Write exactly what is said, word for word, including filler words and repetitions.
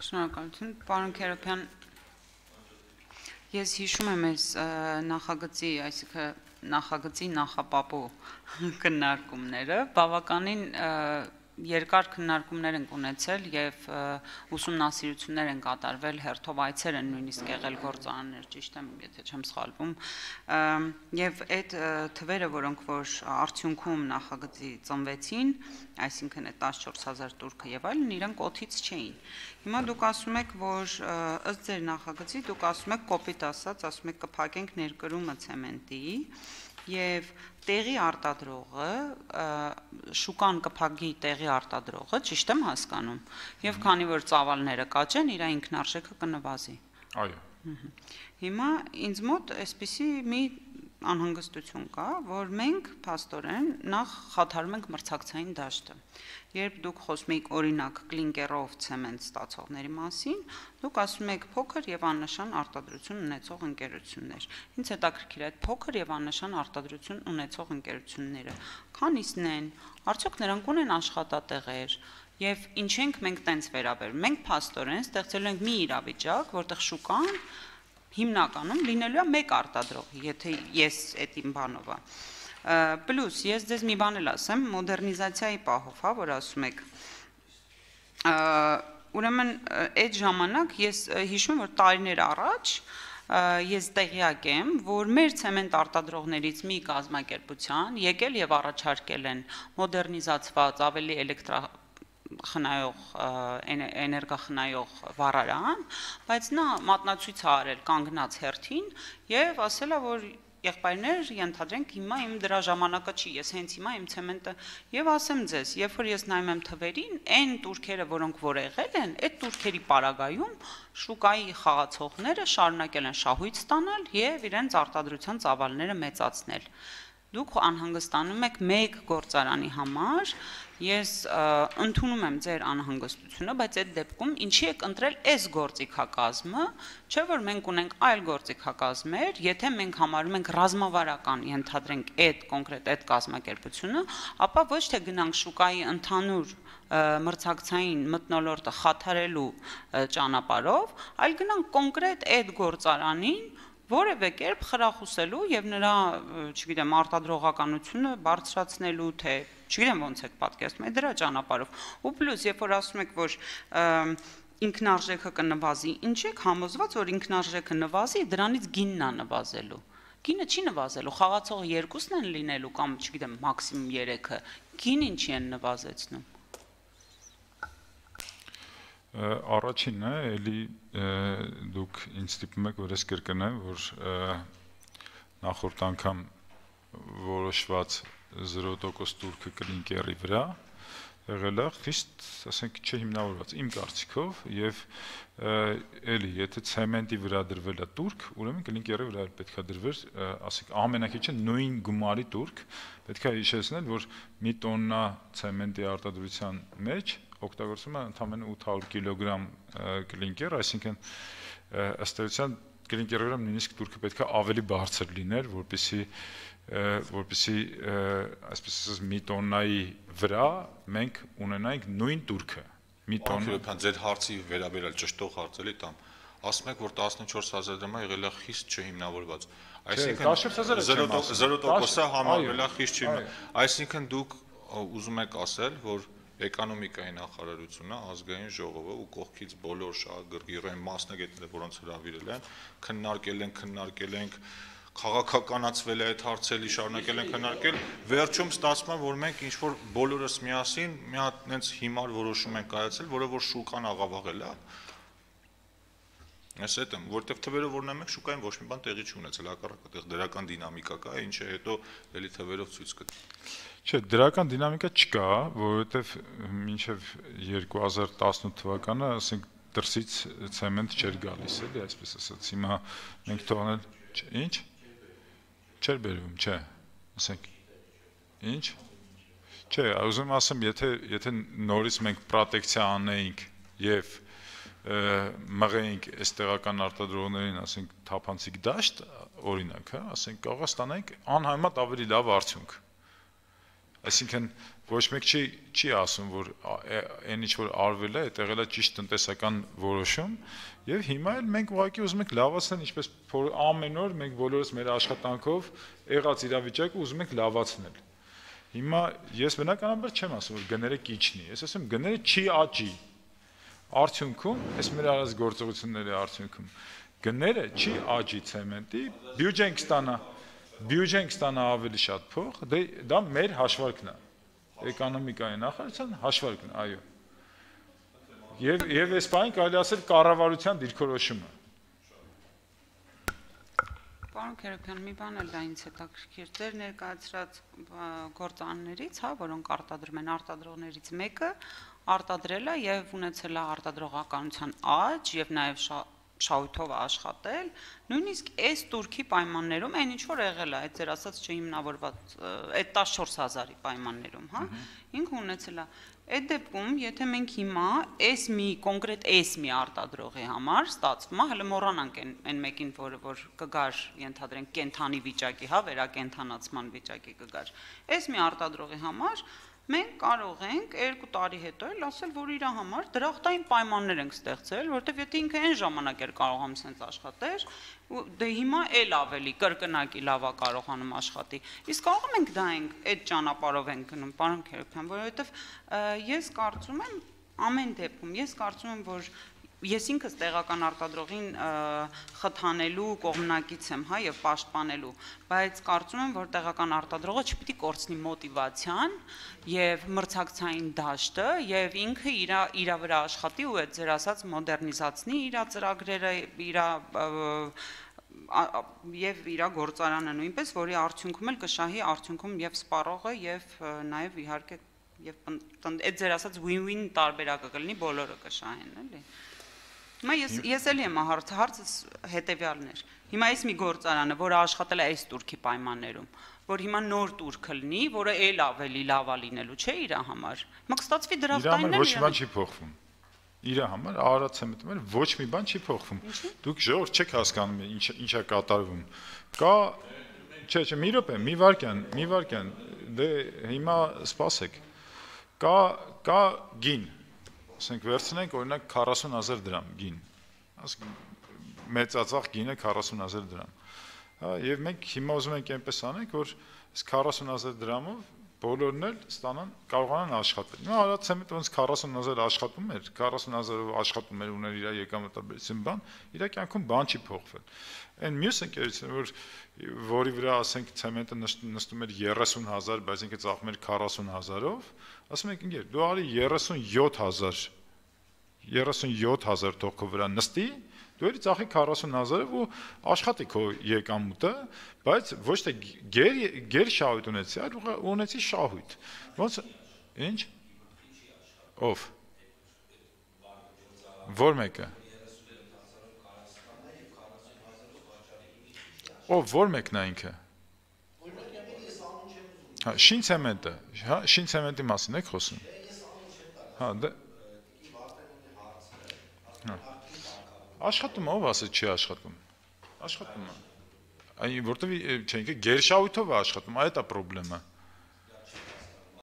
Շնորհակալություն, պարոն Քերոփյան, ես հիշում եմ այս նախագծի, այսինքն նախագծի նախապապու քննարկումները, բավականին երկար քննարկումներ են ունեցել եւ ուսումնասիրություններ են կատարվել, հերթով այցեր են նույնիսկ եղել գործարաններ, ճիշտ եմ, եթե չեմ սխալվում, եւ այդ թվերը, որոնք որ արդյունքում նախագծի ծնվեցին, այսինքն այդ տասնչորս հազար տուրքը եւ այլն, իրանք օդից չէին։ Հիմա դուք ասում եք, որ ըստ ձեր նախագծի դուք ասում եք կոպիտ ասած, ասում եք կփակենք ներկրումը ցեմենտի եւ տեղի արտադրողը շուկան կփակի տեղի արտադրողը, ճիշտ եմ հասկանում, եւ քանի որ ծավալները կաճեն, իր ինքնարժեքը կնվազի։ Այո։ Հիմա ինձ մոտ այսպիսի մի անհանգստություն կա, որ մենք փաստորեն նախ խաթարում ենք մրցակցային դաշտը։ Երբ դուք խոսում եք օրինակ կլինկերով ցեմենտ ստացողների մասին, դուք ասում եք փոքր եւ աննշան արտադրություն ունեցող ընկերություններ։ Ինձ հետաքրքիր է այդ փոքր եւ աննշան արտադրություն ունեցող ընկերությունները։ Քանիսն են, արդյոք նրանք ունեն աշխատատեղեր, եւ ինչ ենք մենք տենց վերաբերում։ Մենք փաստորեն ստեղծելու ենք մի իրավիճակ, որտեղ շուկան հիմնականում լինելու է մեկ արտադրող, եթե ես այդ իմ բանով է։ Պլյուս ես ձեզ մի բան էլ ասեմ, մոդեռնիզացիայի պահով, հա, որ ասում եք։ Ուրեմն այդ ժամանակ ես հիշում եմ, որ տարիներ առաջ ես տեղյակ եմ, որ մեր ցեմենտ արտադրողներից մի կազմակերպության եկել եւ առաջարկել են մոդեռնիզացված, ավելի էլեկտրա խնայող էներգախնայող վառարան, բայց նա մատնացույց է արել կանգնած հերթին եւ ասել է, որ եղբայրներ, ենթադրենք հիմա իմ դրա ժամանակը չի, ես հենց հիմա իմ ցեմենտը եւ ասեմ ձեզ, երբ որ ես նայում եմ թվերին, այն турքերը, որոնք որ եղել են, այդ турքերի պարագայում շուկայի խաղացողները շարունակել են շահույթ ստանալ եւ իրենց արտադրության ծավալները մեծացնել։ Դուք անհանգստանում եք մեկ գործարանի համար, ես ընդունում եմ ձեր անհանգստությունը, բայց այդ դեպքում ինչի եք ընտրել այս գործիքակազմը, չէ՞ որ մենք ունենք այլ գործիքակազմեր, եթե մենք համարում ենք ռազմավարական, ենթադրենք այդ կոնկրետ այդ կազմակերպությունը, ապա ոչ թե գնանք շուկայի ընդհանուր մրցակցային մթնոլորտը խաթարելու ճանապարհով, այլ գնանք կոնկրետ այդ գործարանին որևէ կերպ խրախուսելու եւ նրա, չգիտեմ, արտադրողականությունը բարձրացնելու, թե չգիտեմ ոնց եք պատկերացնում, դրա ճանապարհով։ Ու պլյուս, երբ որ ասում եք, որ ինքնարժեքը կնվազի, ինչ եք համոզված, որ ինքնարժեքը նվազի, դրանից գինն է նվազելու։ Գինը չի նվազելու, խաղացողը երկուսն են լինելու կամ, չգիտեմ, մաքսիմում երեքը, գին ինչի են նվազեցնում։ Առաջինը, էլի դուք ինձ ստիպում եք, որ ես կրկնեմ, որ նախորդ անգամ որոշված զրո տոկոս турքը կլինկերի վրա եղել է խիստ, ասենք, չհիմնավորված իմ կարծիքով եւ էլի, եթե ցեմենտի վրա դրվել է турք, ուրեմն կլինկերի վրա պետք է դրվեր, ասենք, ամենակիչը նույն գումարի турք, պետք է հիշեցնել, որ մի տոննա ցեմենտի արտադրության մեջ օգտագործում է ընդամենը ութ հարյուր կիլոգրամ կլինկեր, այսինքն ըստ էության կլինկերի վրա նույնիսկ турքը պետք է ավելի բարձր լիներ, որպեսզի որպեսզի այսպես ասած մի տոննայի վրա մենք ունենայինք նույն турքը։ Մի տոննա ձեր հարցի վերաբերյալ ճշտող հարց էլի տամ։ Ասում եք, որ տասնչորս հազար դրամը եղել է խիստ չհիմնավորված։ Այսինքն զրո տոկոսը համարվել է խիստ չհիմնավորված։ Այսինքն դուք ուզում եք ասել, որ Էկոնոմիկայի նախարարությունը, ազգային ժողովը ու կողքից բոլոր շահագրգիռային մասնագետները, որոնց հրավիրել են, քննարկել են, քննարկել ենք, քաղաքականացվել է այդ հարցերի, շարունակել են քննարկել, վերջում ստացվում է, որ մենք ինչ որ բոլորս միասին մի հատ այնց հիմար որոշում ենք կայացել, որը որ շուկան աղավաղել է։ Ես այդ եմ, որտեվ թվերը որ նայում եք, շուկային ոչ մի բան տեղի չունեցել, հակառակը այդտեղ դրական դինամիկա կա, ինչը հետո էլի թվերով ցույց կտա։ Չէ, դրական դինամիկա չկա, որովհետև մինչև երկու հազար տասնութ թվականը, ասենք, դրսից ցեմենտ չէր գալիս, էլի, այսպես ասած, հիմա մենք թողնել, ինչ? Չէր բերվում, չէ, ասենք, ինչ? Չէ, ուզում ասեմ, եթե եթե նորից մենք պրոտեկցիա անեինք եւ մղեինք այս տեղական արտադրողներին, ասենք, թափանցիկ դաշտ, օրինակ, հա, ասենք, կարող է ստանանք անհամեմատ ավելի լավ արդյունք։ Այսինքն ոչ մեկ չի չի ասում, որ այն ինչ որ արվել է, այդ եղել է ճիշտ տնտեսական որոշում, եւ հիմա էլ մենք ուղղակի ուզում ենք լավացնել, ինչպես ամեն օր մենք բոլորս մեր աշխատանքով եղած իրավիճակը ուզում ենք լավացնել։ Հիմա ես բնականաբար չեմ ասում, որ գները կիչնի, ես ասում գները չի աճի։ Արդյունքում, այս մեր արած գործողությունների արդյունքում գները չի աճի ցեմենտի, բյուջեն կստանա, բյուջեն կստանա ավելի շատ փող, դա մեր հաշվարկն է։ Էկոնոմիկայի նախարարության հաշվարկն է, այո։ Եվ եւ այս բանը կարելի ասել կառավարության դիրքորոշումը։ Պարոն Քերոբյան, մի բան էլ դա ինձ հետաքրքիր։ Ձեր ներկայացրած գործարաններից, հա, որոնք արտադրում են, արտադրողներից մեկը արտադրել է եւ ունեցել է արտադրողականության աճ եւ նաեւ շահույթով աշխատել, նույնիսկ այս турքի պայմաններում այն ինչ որ եղել է, այդ ձեր ասած չհիմնավորված այդ տասնչորս հազարի պայմաններում, հա, ինքը ունեցել է։ Այդ դեպքում, եթե մենք հիմա այս մի կոնկրետ այս մի արտադրողի համար ստացվում է, հələ մոռանանք այն մեկին, որը որ կգար, ենթադրենք կենթանի վիճակի, հա, վերակենթանացման վիճակի կգար։ Այս մի արտադրողի համար մենք կարող ենք երկու տարի հետո էլ ասել, որ իր համար դրախտային պայմաններ ենք ստեղծել, որտեղ եթե ինքը այն ժամանակ էր կարողանում sense աշխատեր, դե հիմա էլ ավելի կրկնակի լավա կարողանում աշխատի։ Իսկ կարող ենք դա ենք այդ ճանապարհով ենք գնում, պարոն Քերոբյան, որովհետև ես կարծում եմ ամեն դեպքում, ես կարծում եմ, որ ես ինքս տեղական արտադրողին խթանելու կողմնակից եմ, հա, եւ պաշտպանելու, բայց կարծում եմ, որ տեղական արտադրողը չպիտի կորցնի մոտիվացիան եւ մրցակցային դաշտը եւ ինքը իր իր վրա աշխատի ու այդ ձեր ասած մոդեռնիզացնի իր ծրագրերը, իր եւ իր գործարանը նույնպես, որի արդյունքում էլ կշահի արդյունքում եւ սպառողը եւ նաեւ իհարկե եւ այդ ձեր ասած win-win տարբերակը կլինի, բոլորը կշահեն, էլի։ Հիմա ես ես էլի եմ հարցը, հարցս հետեւյալն էր։ Հիմա այս մի գործարանը, որը աշխատել է այս турքի պայմաններում, որ հիմա նոր турք լինի, որը էլ ավելի լավ է լինելու, չէ՞ իր համար։ Հիմա կստացվի դրախտայինն էլ։ Իր համար ոչ մի բան չի փոխվում։ Իր համար արարած ցեմենտում ոչ մի բան չի փոխվում։ Դուք ժողովուրդ չեք հասկանում ինչ ինչա կատարվում։ Կա, չէ, չէ, մի րոպե, մի վարքյան, մի վարքյան, դե հիմա սպասեք։ Կա կա գին ասենք վերցնենք օրինակ քառասուն հազար դրամ գին, ասենք մեծածախ գինը քառասուն հազար դրամ, հա, եւ մենք հիմա ուզում ենք այնպես անենք, որ այս քառասուն հազար դրամով բոլորն էլ ստանան, կարողանան աշխատել։ Հիմա արած ցեմենտ ոնց քառասուն հազար աշխատում էր, քառասուն հազարով աշխատում էր ուներ իր եկամտաբերություն բան, իր կյանքում բան չի փոխվել։ Այն մյուս ընկերությունը, որ որի վրա ասենք ցեմենտը նստում էր երեսուն հազար, բայց ինքը ծախում էր քառասուն հազարով, ասում եք ինքեր, դու արի երեսունյոթ հազար, երեսունյոթ հազար թող քո վրա նստի, դու էլի ծախի քառասուն հազարով ու աշխատի քո եկամուտը, բայց ոչ թե գեր գեր շահույթ ունեցի, այլ ունեցի շահույթ։ Ոնց ինչ։ Ով։ Որ մեկը։ Ով որ մեկն է ինքը։ Հա, շին ցեմենտը, հա, շին ցեմենտի մասին եք խոսում։ Հա, դա Հա։ Աշխատում ով ասել չի աշխատում։ Աշխատում է։ Այն որտեվ չէ, ինքը գերշահույթով է աշխատում, այդ է խնդրեմը։